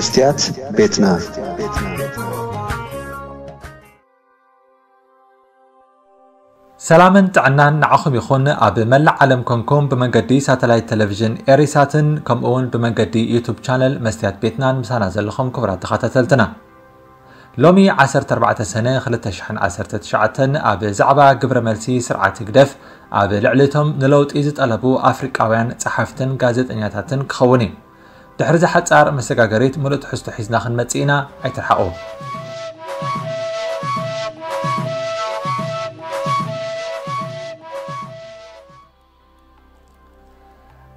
መስትያት ቤትና። ሰላምን ጥዕናን ንዓኹም ይኹን። ኣብ መላእ ዓለም ኮንኩም ብመንገዲ ሳተላይት ቴሌቪዥን ኤሪሳትን ከምኡ እውን ብመንገዲ ዩቱብ ቻነል መስትያት ቤትናን ምሳና ዘለኹም ክቡራት ተኸታተልትና፣ ሎሚ ዓሰርተ ኣርባዕተ ሰነ ክልተ ሽሕን ዓሰርተ ትሽዓተን ኣብ ዛዕባ ግብረ መልሲ ስርዓት ህግደፍ ኣብ ልዕሊ እቶም ንለውጢ ዝጠለቡ ኣፍሪቃውያን ጸሓፍትን ጋዜጠኛታትን ክኸውን እዩ። ድሕሪ እዛ ሓጻር መሰጋገሪት ምሉእ ትሕዝቶ ሒዝና ክንመጽእ ኢና። ኣይትርሓቑ።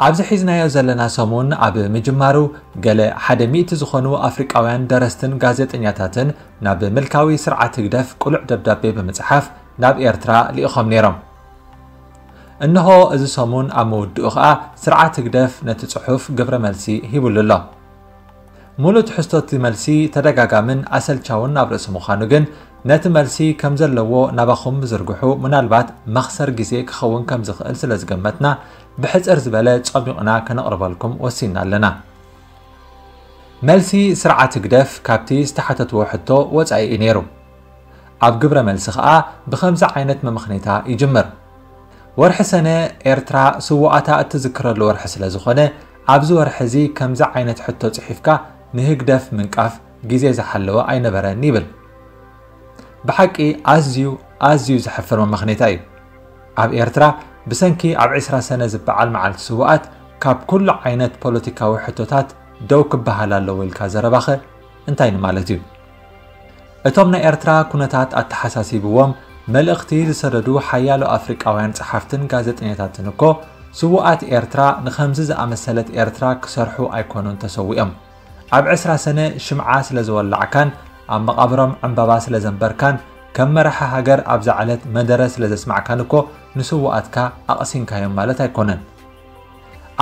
ኣብዚ ሒዝናዮ ዘለና ሰሙን ኣብ ምጅማሩ፣ ገለ ሓደ ሚእቲ ዝኾኑ ኣፍሪቃውያን ደረስትን ጋዜጠኛታትን ናብ ምልካዊ ስርዓት ህግደፍ ቅሉዕ ደብዳቤ ብምጽሓፍ ናብ ኤርትራ ልኢኾም ነይሮም። እንሆ እዚ ሰሙን ኣብ ምውድኡ ኸኣ ስርዓት ህግደፍ ነቲ ጽሑፍ ግብረ መልሲ ሂቡሉ ኣሎ። ሙሉእ ትሕዝቶ እቲ መልሲ ተደጋጋምን ኣሰልቻውን ኣብ ርእሲ ምዃኑ ግን፣ ነቲ መልሲ ከም ዘለዎ ናባኹም ምዝርግሑ ምናልባት መኽሰር ግዜ ክኸውን ከም ዝኽእል ስለ ዝገመትና፣ ብሕጽር ዝበለ ጸሚቑና ከነቕርበልኩም ወሲንና ኣለና። መልሲ ስርዓት ህግደፍ ካብቲ ዝተሓተትዎ ሕቶ ወጻኢ እዩ ነይሩ። ኣብ ግብረ መልሲ ኸኣ ብኸምዚ ዓይነት መመኽኔታ ይጅምር። ወርሒ ሰነ ኤርትራ ስውኣታ እትዝክረሉ ወርሒ ስለ ዝኾነ፣ ኣብዚ ወርሒ እዚ ከምዚ ዓይነት ሕቶ ጽሒፍካ ንህግደፍ ምንቃፍ ግዜ ዝሓለወ ኣይነበረን ይብል። ብሓቂ ኣዝዩ፣ ኣዝዩ ዘሕፍር መመኽኔታ እዩ። ኣብ ኤርትራ ብሰንኪ ኣብ ዕስራ ሰነ ዝበዓል መዓልቲ ስውኣት ካብ ኩሉ ዓይነት ፖለቲካዊ ሕቶታት ደው ክበሃል ኣለዎ ኢልካ ዘረባኸ እንታይ ንማለት እዩ? እቶም ናይ ኤርትራ ኩነታት ኣተሓሳሲብዎም መልእኽቲ ዝሰደዱ ሓያሎ ኣፍሪቃውያን ጸሓፍትን ጋዜጠኛታትን እኮ፣ ስዉኣት ኤርትራ ንኸምዚ ዝኣመሰለት ኤርትራ ክሰርሑ ኣይኮኑን ተሰዊኦም። ኣብ ዕስራ ሰነ ሽምዓ ስለ ዝወላዕካን ኣብ መቓብሮም ዕምባባ ስለ ዘንበርካን፣ ከም መራሒ ሃገር ኣብዛ ዕለት መደረ ስለ ዘስማዕካን እኮ ንስዉኣትካ ኣቕሲንካዮም ማለት ኣይኮነን።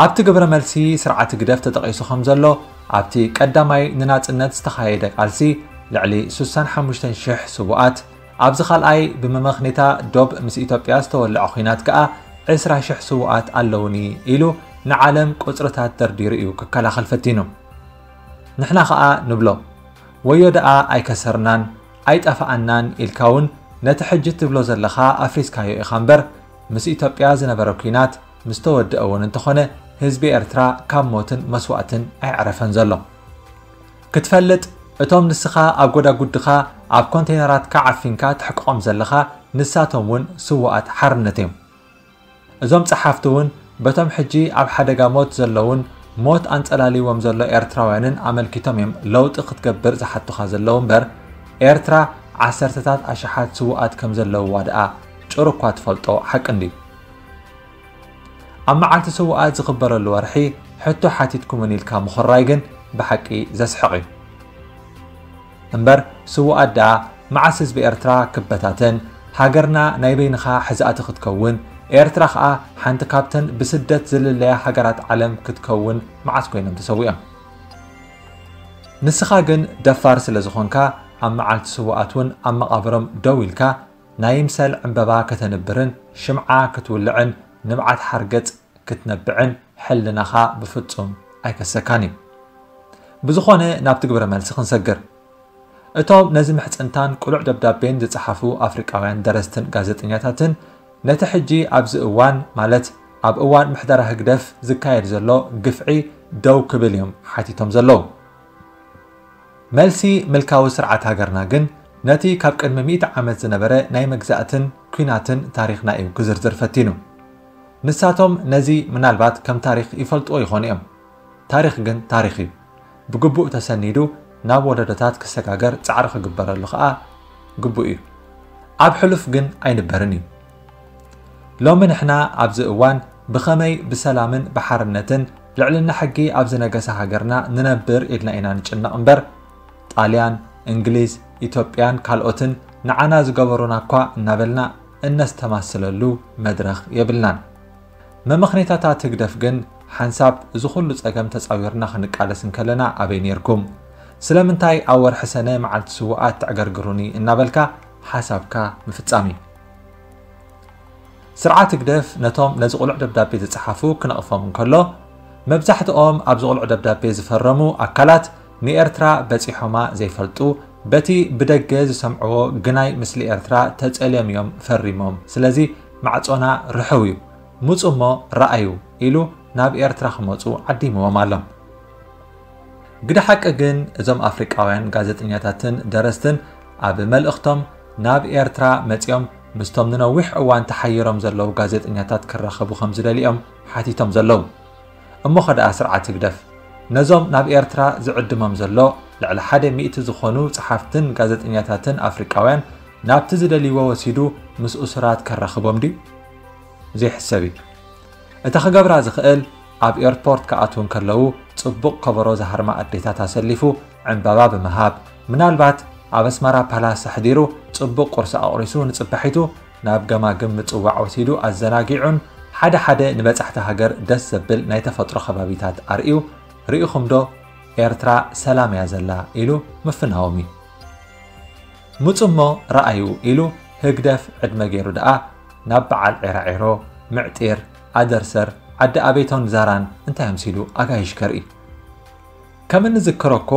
ኣብቲ ግብረ መልሲ ስርዓት ህግደፍ ተጠቒሱ ከም ዘሎ፣ ኣብቲ ቀዳማይ ንናጽነት ዝተኻየደ ቃልሲ ልዕሊ ስሳን ሓሙሽተን ሽሕ ስዉኣት፣ ኣብዚ ካልኣይ ብመመኽኔታ ዶብ ምስ ኢትዮጵያ ዝተወልዐ ኲናት ከኣ ዕስራ ሽሕ ስዉኣት ኣለውኒ ኢሉ ንዓለም ቁጽርታት ደርዲሩ እዩ ክከላኸል ፈቲኑ። ንሕና ኸኣ ንብሎ፣ ወዮ ደኣ ኣይከሰርናን ኣይጠፋኣናን ኢልካ እውን ነቲ ሕጂ ትብሎ ዘለኻ ኣፍሪስካዮ ኢኻ እምበር፣ ምስ ኢትዮጵያ ዝነበረ ኲናት ምስ ተወድአ እውን እንተኾነ፣ ህዝቢ ኤርትራ ካብ ሞትን መስዋእትን ኣይዕረፈን ዘሎ። ክትፈልጥ፣ እቶም ንስኻ ኣብ ጎዳጉድኻ ኣብ ኮንቴይነራትካ ዓፊንካ ትሕቅቖም ዘለኻ፣ ንሳቶም እውን ስዉኣት ሓርነት እዮም። እዞም ጸሓፍቲ እውን በቶም ሕጂ ኣብ ሓደጋ ሞት ዘለውን ሞት ኣንጸላልይዎም ዘሎ ኤርትራውያንን ኣመልኪቶም እዮም ለውጢ ክትገብር ዝሓቱኻ ዘለዉ እምበር፣ ኤርትራ ዓሰርተታት ኣሽሓት ስዉኣት ከም ዘለውዋ ደኣ ጭሩ እኳ ትፈልጦ ሓቂ እንድዩ። ኣብ መዓልቲ ስዉኣት ዝኽበረሉ ወርሒ ሕቶ ሓቲትኩምኒ ኢልካ ምኹራይ ግን ብሓቂ ዘስሕቕ እዩ። እምበር ስዉኣት ደኣ መዓስ ህዝቢ ኤርትራ ክበታተን፣ ሃገርና ናይ በይንኻ ሕዛእቲ ክትከውን፣ ኤርትራ ኸኣ ሓንቲ ካብተን ብስደት ዝልለያ ሃገራት ዓለም ክትከውን መዓስ ኮይኖም ተሰዊኦም? ንስኻ ግን ደፋር ስለ ዝኾንካ፣ ኣብ መዓልቲ ስዉኣት እውን ኣብ መቓብሮም ደው ኢልካ፣ ናይ ይምሰል ዕምበባ ከተንብርን ሽምዓ ክትውልዕን ንብዓት ሓርገጽ ክትነብዕን ሕልናኻ ብፍጹም ኣይከሰካን እዩ። ብዝኾነ ናብቲ ግብረ መልሲ ክንሰግር። እቶም ነዚ ምሕጽንታን ቅሉዕ ደብዳቤን ዝጸሓፉ ኣፍሪቃውያን ደረስትን ጋዜጠኛታትን ነቲ ሕጂ ኣብዚ እዋን፣ ማለት ኣብ እዋን ምሕደራ ህግደፍ ዝካየድ ዘሎ ግፍዒ ደው ክብል እዮም ሓቲቶም ዘለዉ። መልሲ ምልካዊ ስርዓት ሃገርና ግን ነቲ ካብ ቅድሚ ሚእቲ ዓመት ዝነበረ ናይ መግዛእትን ኲናትን ታሪኽና እዩ ክዝርዝር ፈቲኑ። ንሳቶም ነዚ ምናልባት ከም ታሪኽ ይፈልጥዎ ይኾኑ እዮም። ታሪኽ ግን ታሪኽ እዩ። ብግቡእ ተሰኒዱ ናብ ወለዶታት ክሰጋገር ጻዕሪ ክግበረሉ ኸኣ ግቡእ እዩ። ኣብ ሕሉፍ ግን ኣይንበርን እዩ። ሎሚ ንሕና ኣብዚ እዋን ብኸመይ ብሰላምን ብሓርነትን ልዕልና ሕጊ ኣብ ዝነገሰ ሃገርና ንነብር ኢልና ኢና ንጭነቕ እምበር፣ ጣልያን፣ እንግሊዝ፣ ኢትዮጵያን ካልኦትን ንዓና ዝገበሩና እኳ እናበልና እነስተማስለሉ መድረኽ የብልናን። መመኽኔታታት ህግደፍ ግን ሓንሳብ እዚ ኩሉ ጸገም ተጻዊርና ክንቃለስ እንከለና ኣበይ ኔርኩም? ስለምንታይ ኣብ ወርሒ ሰነ መዓልቲ ስዉኣት ተዕገርግሩኒ እናበልካ ሓሳብካ ምፍጻም እዩ። ስርዓት ህግደፍ ነቶም ነዚ ቅሉዕ ደብዳቤ ዝጸሓፉ ክነቕፎም እንከሎ፣ መብዛሕትኦም ኣብዚ ቅሉዕ ደብዳቤ ዝፈረሙ ኣካላት ንኤርትራ በጺሖማ ዘይፈልጡ፣ በቲ ብደገ ዝሰምዕዎ ግናይ ምስሊ ኤርትራ ተጸልዮም እዮም ፈሪሞም። ስለዚ ማዕጾና ርሑው እዩ። ምጹ እሞ ረኣዩ ኢሉ ናብ ኤርትራ ክመጹ ዓዲምዎም ኣሎ። ግደ ሓቂ ግን እዞም ኣፍሪቃውያን ጋዜጠኛታትን ደረስትን ኣብ መልእኽቶም ናብ ኤርትራ መጺኦም ምስቶም ንነዊሕ እዋን ተሓይሮም ዘለዉ ጋዜጠኛታት ክራኸቡ ከም ዝደልዮም ሓቲቶም ዘለዉ። እሞ ኸደኣ ስርዓት ህግደፍ ነዞም ናብ ኤርትራ ዝዕድሞም ዘሎ ልዕሊ ሓደ ሚእቲ ዝኾኑ ጸሓፍትን ጋዜጠኛታትን ኣፍሪቃውያን ናብቲ ዝደልይዎ ወሲዱ ምስ እሱራት ከራኽቦም ድዩ? ዘይሕሰብ እዩ። እቲ ክገብራ ዝኽእል ኣብ ኤርፖርት ክኣትዉ እንከለዉ ጽቡቕ ከበሮ ዝሃርማ ኣዴታት ኣሰሊፉ ዕምባባ ብምሃብ፣ ምናልባት ኣብ ኣስመራ ፓላስ ኣሕዲሩ ጽቡቕ ቁርሲ ኣቑሪሱ ንጽባሒቱ ናብ ገማግም ምጽዋዕ ወሲዱ ኣዘናጊዑን ሓደ ሓደ ንበጻሕቲ ሃገር ደስ ዘብል ናይ ተፈጥሮ ከባቢታት ኣርእዩ፣ ርኢኹም ዶ ኤርትራ ሰላም እያ ዘላ ኢሉ ምፍናዎም እዩ። ምጹ እሞ ረኣዩ ኢሉ ህግደፍ ዕድመ ገይሩ ደኣ ናብ በዓል ዒራዒሮ፣ ምዕጢር፣ ኣደርሰር፣ ዓዲ ኣቤቶን ዛራን እንታይ ኣምሲሉ ኣጋይሽ ከርኢ። ከም እንዝክሮ እኮ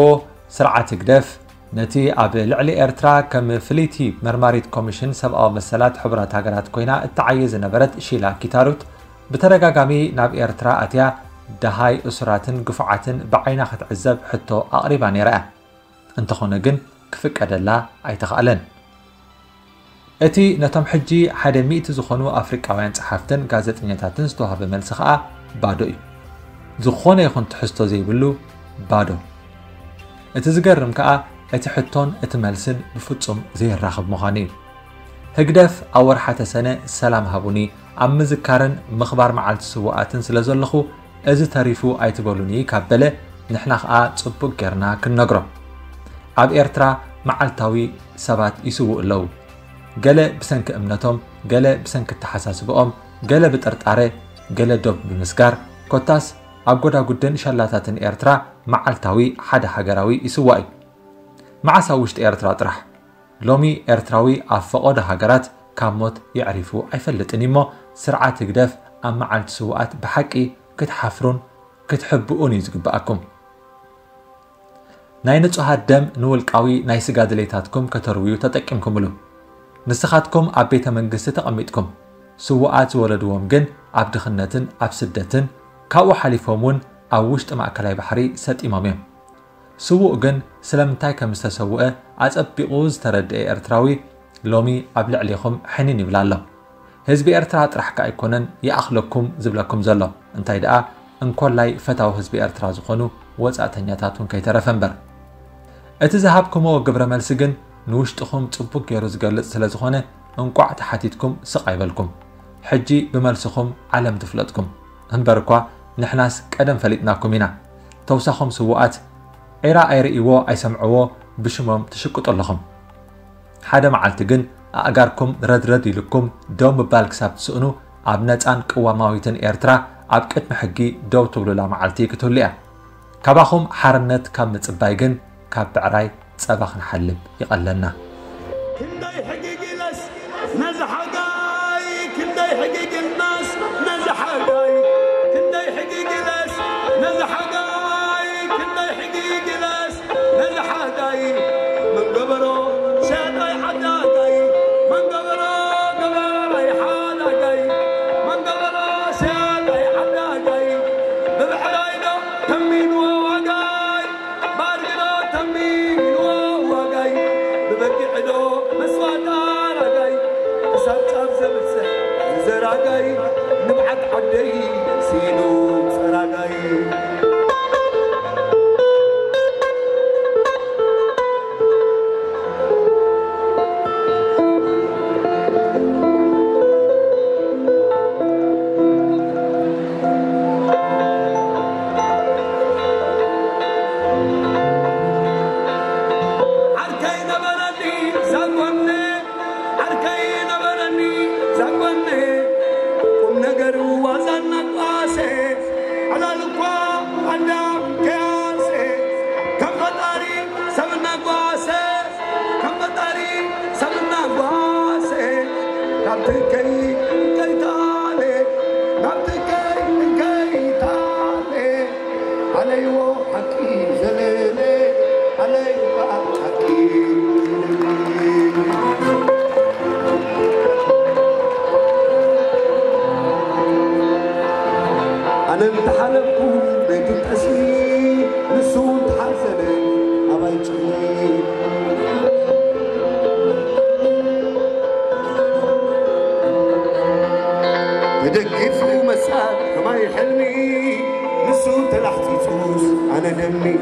ስርዓት ህግደፍ ነቲ ኣብ ልዕሊ ኤርትራ ከም ፍልይቲ መርማሪት ኮሚሽን ሰብኣዊ መሰላት ሕቡራት ሃገራት ኮይና እትዓዪ ዝነበረት ሺላ ኪታሩት ብተደጋጋሚ ናብ ኤርትራ ኣትያ ደሃይ እሱራትን ግፉዓትን ብዓይና ክትዕዘብ ሕቶ ኣቕሪባ ነይራ እያ። እንተኾነ ግን ክፍቀደላ ኣይተኻእለን። እቲ ነቶም ሕጂ ሓደ ሚእቲ ዝኾኑ ኣፍሪቃውያን ጸሓፍትን ጋዜጠኛታትን ዝተዋህበ መልሲ ከኣ ባዶ እዩ። ዝኾነ ይኹን ትሕዝቶ ዘይብሉ ባዶ። እቲ ዝገርም ከኣ እቲ ሕቶን እቲ መልስን ብፍጹም ዘይራኸብ ምዃኑ እዩ። ህግደፍ ኣብ ወርሓ ተሰነ ሰላም ሃቡኒ ኣብ ምዝካርን ምኽባር መዓልቲ ስውኣትን ስለ ዘለኹ እዚ ተሪፉ ኣይትበሉኒ ካብ በለ ንሕና ከኣ ጽቡቕ ጌርና ክንነግሮ። ኣብ ኤርትራ መዓልታዊ ሰባት ይስውኡ ኣለዉ። ገለ ብሰንኪ እምነቶም፣ ገለ ብሰንኪ ኣተሓሳስብኦም፣ ገለ ብጥርጣረ፣ ገለ ዶብ ብምስጋር፣ ኮታስ ኣብ ጎዳጉድን ሸላታትን ኤርትራ መዓልታዊ ሓደ ሃገራዊ ይስዋእ እዩ። መዓስ ኣብ ውሽጢ ኤርትራ ጥራሕ? ሎሚ ኤርትራዊ ኣብ ፈቐዶ ሃገራት ካብ ሞት የዕሪፉ ኣይፈልጥን እዩ እሞ ስርዓት ህግደፍ ኣብ መዓልቲ ስውኣት ብሓቂ ክትሓፍሩን ክትሕብኡን እዩ ዝግብኣኩም። ናይ ንጹሃት ደም ንውልቃዊ ናይ ስጋ ድሌታትኩም ከተርውዩ ተጠቂምኩምሉ። ንስኻትኩም ኣብ ቤተ መንግስቲ ተቐሚጥኩም፣ ስውኣት ዝወለድዎም ግን ኣብ ድኽነትን ኣብ ስደትን፣ ካብኡ ሓሊፎም እውን ኣብ ውሽጢ ማእከላይ ባሕሪ ሰጢሞም እዮም። ስዉእ ግን ስለምንታይ ከም ዝተሰውአ ኣጸቢቑ ዝተረድአ ኤርትራዊ ሎሚ ኣብ ልዕሌኹም ሕንን ይብል ኣሎ። ህዝቢ ኤርትራ ጥራሕ ከኣ ኣይኮነን ይኣኽለኩም ዝብለኩም ዘሎ፣ እንታይ ደኣ እንኮላይ ፈታዊ ህዝቢ ኤርትራ ዝኾኑ ወጻእተኛታት እውን ከይተረፈ እምበር። እቲ ዝሃብኩምዎ ግብረ መልሲ ግን ንውሽጥኹም ጽቡቕ ገይሩ ዝገልጽ ስለ ዝኾነ እንቋዕ ተሓቲትኩም ስቕ ኣይበልኩም። ሕጂ ብመልስኹም ዓለም ትፍለጥኩም። እምበር እኳ ንሕናስ ቀደም ፈሊጥናኩም ኢና። ተውሳኾም ስዉኣት ዒራ ኣይርእይዎ ኣይሰምዕዎ ብሽሞም ትሽቅጡ ኣለኹም። ሓደ መዓልቲ ግን ኣእጋርኩም ረድረድ ኢልኩም ደው ምባል ክሳብ ትስእኑ ኣብ ነጻን ቅዋማዊትን ኤርትራ ኣብ ቅድሚ ሕጊ ደው ትብሉላ መዓልቲ ክትህሉ እያ። ካባኹም ሓርነት ካብ ምጽባይ ግን ካብ ብዕራይ ጸባ ክንሓልብ ይቐለና። ክንደይ ሕጊግ ኢለስ ነዚ ሓጋይ፣ ክንደይ ሕጊግ ኢልናስ ነዚ ሓጋይ፣ ክንደይ ሕጊግ ኢለስ ነዚ ሓጋይ፣ ክንደይ ሕጊግ ኢለስ ነዚ ሓጋይ። መን ገበሮ ሸያጣይ ዓዳጋይ፣ መን ገበሮ ገባራይ ሓዳጋይ፣ መን ገበሮ ሸያጣይ ዓዳጋይ። ብብዕራይ ዶ ተሚንዎ ዋጋይ፣ ባርግዶ ተሚንዎ ዋጋይ፣ ብበጊዕዶ መስዋእታ ራጋይ፣ ክሳብ ጫፍ ዘብጽሕ ዝዘራጋይ፣ ንብዓት ዓደይ ስኢኑ ጸራጋይ። ዓርከይ ነበረኒ ዛጎነ፣ ዓርከይ ነበረኒ ዛጎነ፣ ቁም ነገር ዋዛ እናቋሰ፣ ዕላል እኳ ኣዳም ከያሰ፣ ከም ፈጣሪ ሰብ እናጓሰ፣ ከም ፈጣሪ ሰብ እናጓሰ፣ ናብ ትከይ እንከይታለ፣ ናብ ትከይ እንከይታለ፣ ኣለይዎ ሓቂ ዘለለ። عليك حكي. أنا امتحنكم بيت التسليم، نسون تحزن أباي تشلي. تدقفوا مسات كما يحلمي، نسون تلحتي توس أنا دمي.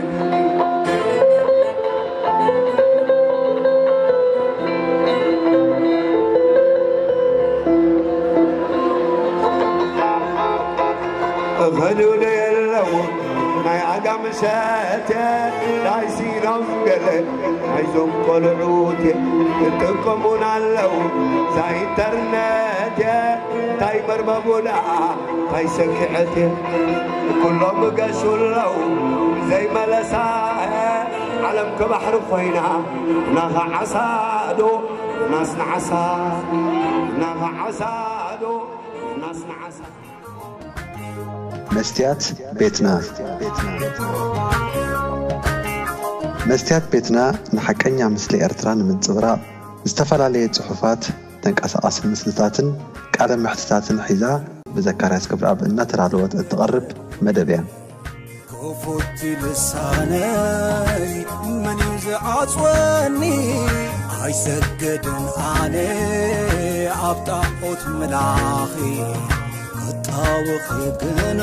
እኸዱ ዶ የለዉ ናይ ዓጋመ ሸተ፣ ናይ ሲኖም ገለ ናይዞም ቆልዑት ይጥቀሙና ኣለዉ እዛ ኢንተርነት። እንታይ መርበቡ ደኣ እንታይ ሰኪዐት፣ ኩሎም ገሹ ኣለዉ ዘይመለሳ። ዓለም ከባሕሪ ኮይና ናኻ ዓሳ ዶ ናስ ንዓሳ፣ ናኻ ዓሳ ዶ ናስ ንዓሳ። መስትያት ቤትና። መስትያት ቤትና ንሓቀኛ ምስሊ ኤርትራ ንምንጽብራቕ ዝተፈላለየ ጽሑፋት፣ ተንቀሳቓሲ ምስልታትን ቃለ መሕትታትን ሒዛ ብዘካርያስ ገብረኣብ እናተዳለወት እትቐርብ መደብ እያ። ክፉት ልሳነይ መን እዩ ዝዓጽወኒ? ኣይሰግድን ኣነ ኣብ ጣዖት ምላኺ፣ ክጣወኺ ግና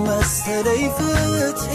መሰለይ ፍትሒ።